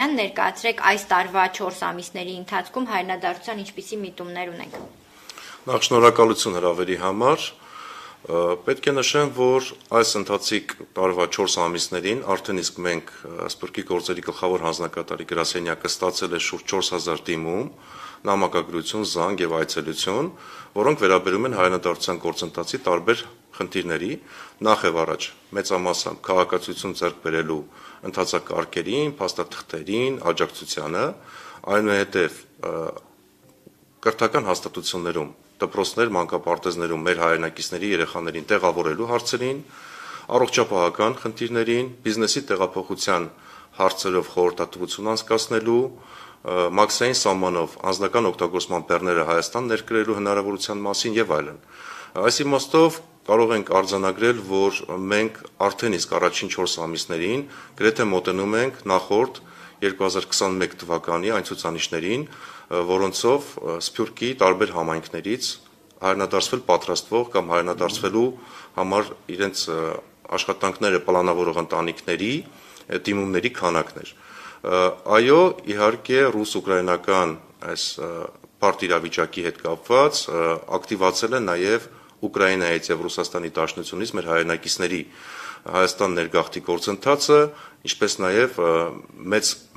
Սարգսյան, ներկայացրեք այս տարվա 4 ամիսների ընթացքում հայրենադարձության ինչպիսի միտումներ ունենք։ Նախ շնորհակալություն հրավերի համար։ Պետք է նշեմ, որ այս ընթացիկ տարվա 4 ամիսներին արդեն իսկ մենք Սփյուռքի գործերի գլխավոր հանձնակատարի գրասենյակը ստացել է շուրջ 4000 դիմում, նամակագրություն, զանգ եւ այցելություն, որոնք վերաբերում են հայրենադարձության գործընթացի տարբեր խնդիրների, նախ եւ առաջ մեծամասամբ քաղաքացիություն ձեռք բերելու ընթացակարգերին, փաստաթղթերին, աջակցությանը, այնուհետև կրթական հաստատություններում, դպրոցներ, մանկապարտեզներում մեր հայրենակիցների երեխաներին տեղավորելու հարցերին, առողջապահական խնդիրներին, բիզնեսի տեղափոխության հարցերով խորհրդատվություն անցկացնելու, մաքսային սահմանով անձնական օգտագործման բեռները Հայաստան ներկրելու հնարավորության մասին եւ այլն։ Այս իմաստով կարող ենք արձանագրել, որ մենք արդեն իսկ առաջին 4 ամիսներին գրեթե մոտենում ենք նախորդ 2021 թվականի այն ցուցանիշներին, որոնցով Սփյուռքի տարբեր համայնքներից հայրենադարձվել պատրաստվող կամ հայրենադարձվելու համար իրենց աշխատանքները պլանավորող ընտանիքների դիմումների քանակն էր։ Այո, իհարկե ռուս-ուկրաինական այս բարդ իրավիճակի հետ կապված ակտիվացել է նաև Ուկրաինայից եւ Ռուսաստանի Դաշնությունից մեր հայրենակիցների Հայաստան ներգաղթի գործընթացը, ինչպես նաև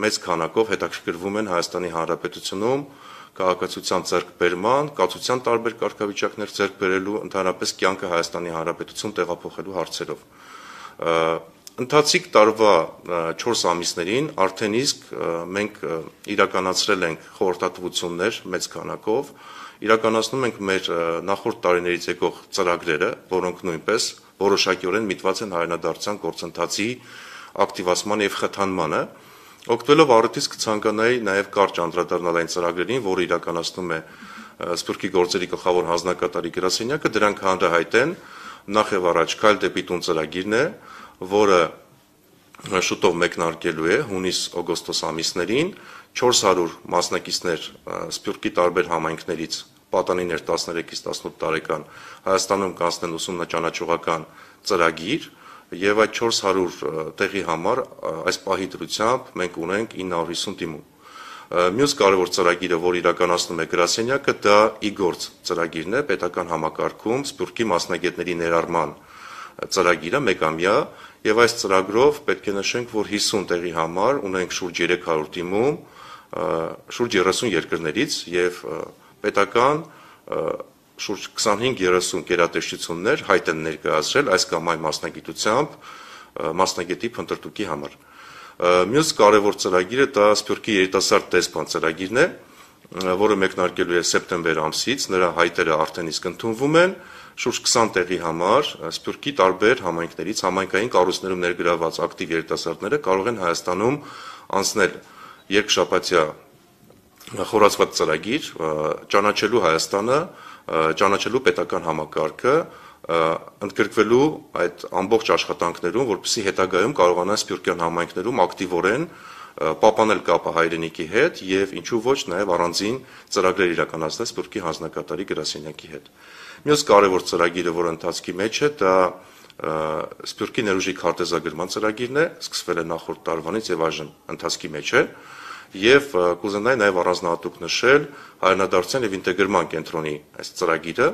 մեծ քանակով հետաքրքրվում են Հայաստանի Հանրապետությունում քաղաքացիության ձեռքբերման, կացության տարբեր կարգավիճակներ ձեռք բերելու, ընդհանրապես կյանքը Հայաստանի Հանրապետություն տեղափոխելու հարցերով։ Ընթացիկ տարվա 4 ամիսներին արդեն իսկ մենք իրականացրել ենք խորհրդատվություններ մեծ քանակով, իրականացնում ենք մեր նախորդ տարիներից եկող ծրագրերը, որոնք նույնպես որոշակիորեն միտված են հայրենադարձության գործընթացի ակտիվացման եւ խթանմանը, օգտվելով առիթից կցանկանայի նաեւ կարճ անդրադառնալ այն ծրագրերին, որը իրականացնում է Սփյուռքի գործերի գլխավոր հանձնակատարի գրասենյակը, դրանք հանրահայտ են, նախ եւ առաջ Քայլ դեպի տուն ծրագիրն է, որը շուտով մեկնարկելու է հունիս-օգոստոս ամիսներին, 400 մասնակիցներ Սփյուռքի տարբեր համայնքներից պատանիներ 13-ից 18 տարեկան Հայաստանում կանցնեն ուսումնաճանաչողական ծրագիր եւ այդ 400 տեղի համար այս պահի դրությամբ մենք ունենք 950 դիմում։ Մյուս կարևոր ծրագիրը, որ իրականացնում է գրասենյակը, դա իգործ ծրագիրն է, պետական համակարգում Սփյուռքի մասնագետների ներառման ծրագիրը մեկամյա եւ այս ծրագրով պետք է նշենք, որ 50 տեղի համար ունենք շուրջ 300 դիմում, շուրջ 30 երկրներից եւ պետական շուրջ 25-30 գերատեսչություններ հայտ են ներկայացրել այս կամ այն մասնագիտությամբ մասնագետի փնտրտուքի համար։ Մյուս կարևոր ծրագիրը դա Սփյուռքի երիտասարդ դեսպան ծրագիրն է, որը մեկնարկելու է սեպտեմբեր ամսից, նրա հայտերը արդեն իսկ ընդունվում են, շուրջ 20 տեղի համար Սփյուռքի տարբեր համայնքներից համայնքային կառույցներում ներգրավված ակտիվ երիտասարդները կարող են Հայաստանում անցնել երկշաբաթյա խորացված ծրագիր, ճանաչելու Հայաստանը, ճանաչելու պետական համակարգը, ընդգրկվելու այդ ամբողջ աշխատանքներում, որպեսզի հետագայում կարողանան սփյուռքյան համայնքներում ակտիվորեն պահպանել կապը հայրենիքի հետ եւ ինչու ոչ նաեւ առանձին ծրագրեր իրականացնել Սփյուռքի հանձնակատարի գրասենյակի հետ։ Մյուս կարևոր ծրագիրը, որը ընթացքի մեջ է, դա Սփյուռքի ներուժի քարտեզագրման ծրագիրն է, սկսվել է նախորդ տարվանից եւ այժմ ընթացքի մեջ է։ Եվ կուզենայի նաև առանձնահատուկ նշել հայրենադարձության եւ ինտեգրման կենտրոնի այս ծրագիրը,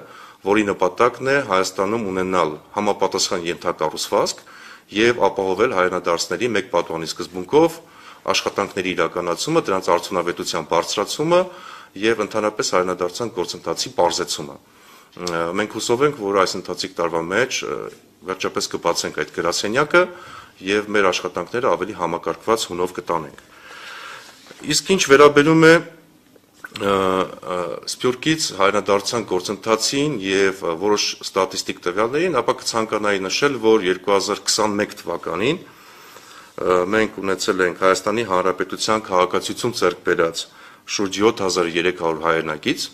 որի նպատակն է Հայաստանում ունենալ համապատասխան ենթակառուցվածք եւ ապահովել հայրենադարձների մեկ պատվանի սկզբունքով աշխատանքների իրականացումը, դրանց արդյունավետության բարձրացումը եւ ընդհանրապես հայրենադարձության գործընթացի պարզեցումը։ Մենք հուսով ենք, որ այս ընթացիկ տարվա մեջ վերջապես կբացենք այդ գրասենյակը եւ մեր աշխատանքները ավելի համակարգված հունով կտանենք։ Իսկ ինչ վերաբերում է Սփյուռքից հայրենադարձության գործընթացին եւ որոշ ստատիստիկ տվյալներին, ապա կցանկանայի նշել, որ 2021 թվականին մենք ունեցել ենք Հայաստանի Հանրապետության քաղաքացիություն ձեռք բերած շուրջ 7300 հայրենակից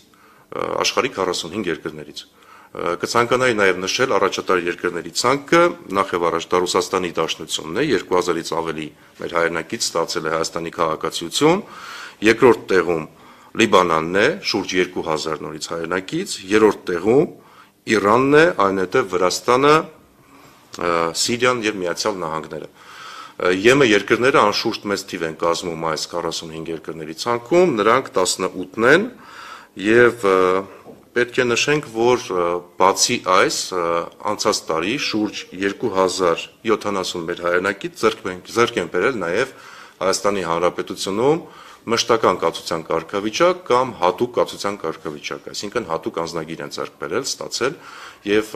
աշխարհի 45 երկրներից։ Կցանկանայի նաև նշել առաջատար երկրների ցանկը, նախ եւ առաջ դա Ռուսաստանի Դաշնությունն է, 2000-ից ավելի մեր հայրենակից ստացել է Հայաստանի քաղաքացիություն, երկրորդ տեղում Լիբանանն է, շուրջ 2000 նորից հայրենակից, երրորդ տեղում Իրանն է, այնուհետև Վրաստանը, Սիրիան եւ Միացյալ Նահանգները։ ԵՄ երկրները անշուշտ մեծ թիվ են կազմում այս 45 երկրների ցանկում, նրանք 18-ն են եւ պետք է նշենք, որ բացի այս անցած տարի շուրջ 2070 մեր հայրենակից ձեռք են բերել նաեւ Հայաստանի Հանրապետությունում մշտական կացության կարգավիճակ կամ հատուկ կացության կարգավիճակ, այսինքն հատուկ անձնագիր են ձեռք բերել, ստացել եւ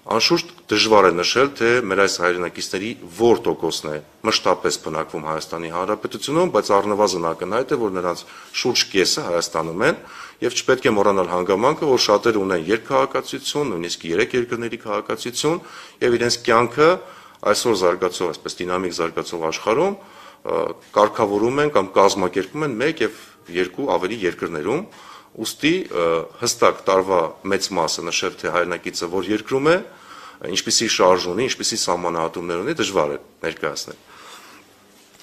անշուշտ դժվար է նշել, թե մեր այս հայրենակիցների որ տոկոսն է մշտապես բնակվում Հայաստանի Հանրապետությունում, բայց առնվազն ակնհայտ է, որ նրանց շուրջ կեսը Հայաստանում են եւ չպետք է մոռանալ հանգամանքը, որ շատերը ունեն երկքաղաքացիություն, նույնիսկ 3 երկրների քաղաքացիություն եւ իրենց կյանքը այսօր զարգացող, այսպես դինամիկ զարգացող աշխարհում կարգավորում են կամ կազմակերպում են 1 եւ 2 ավելի երկրներում, ուստի հստակ տարվա մեծ մասը նշել, թե հայրենակիցը որ երկրում է, ինչպիսի շարժ ունի, ինչպիսի սահմանահատումներ ունի, դժվար է ներկայացնել։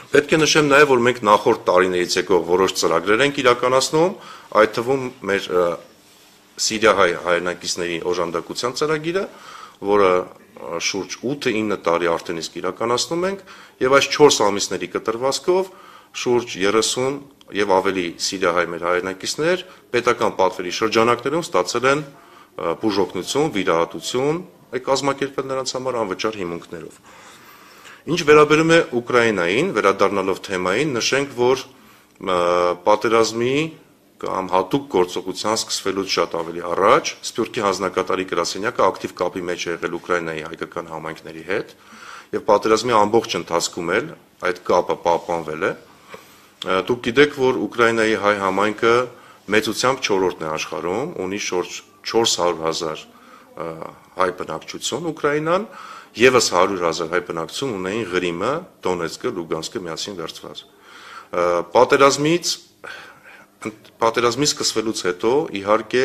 Պետք է նշեմ նաև, որ մենք նախորդ տարիներից եկող որոշ ծրագրեր ենք իրականացնում, այդ թվում մեր Սիրիահայ հայրենակիցների օժանդակության ծրագիրը, որը շուրջ 8-9 տարի արդեն իսկ իրականացնում ենք, եւ այս 4 ամիսների կտրվածքով շուրջ 30 եւ ավելի Սիրիահայ մեր հայրենակիցներ պետական պատվերի շրջանակներում ստացել են բուժօգնություն, վիրահատություն, կազմակերպել նրանց համար անվճար հիմունքներով։ Ինչ վերաբերում է Ուկրաինային, վերադառնալով թեմային, նշենք, որ պատերազմի կամ հատուկ գործողության սկսվելուց շատ ավելի առաջ Սփյուռքի հանձնակատարի գրասենյակը ակտիվ կապի մեջ է եղել Ուկրաինայի հայկական համայնքների հետ եւ պատերազմի ամբողջ ընթացքում էլ այդ կապը պահպանվել է։ Դուք գիտեք, որ Ուկրաինայի հայ համայնքը մեծությամբ 4-րդն է աշխարհում, ունի շուրջ 400,000 հայ բնակչություն Ուկրաինան, եւս 100,000 հայ բնակչություն ունեին Ղրիմը, Դոնեցկը, Լուգանսկը միասին վերցված։ Պատերազմի սկսվելուց հետո իհարկե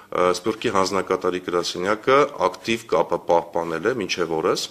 Սփյուռքի հանձնակատարի գրասենյակը ակտիվ կապը պահպանել է մինչև օրս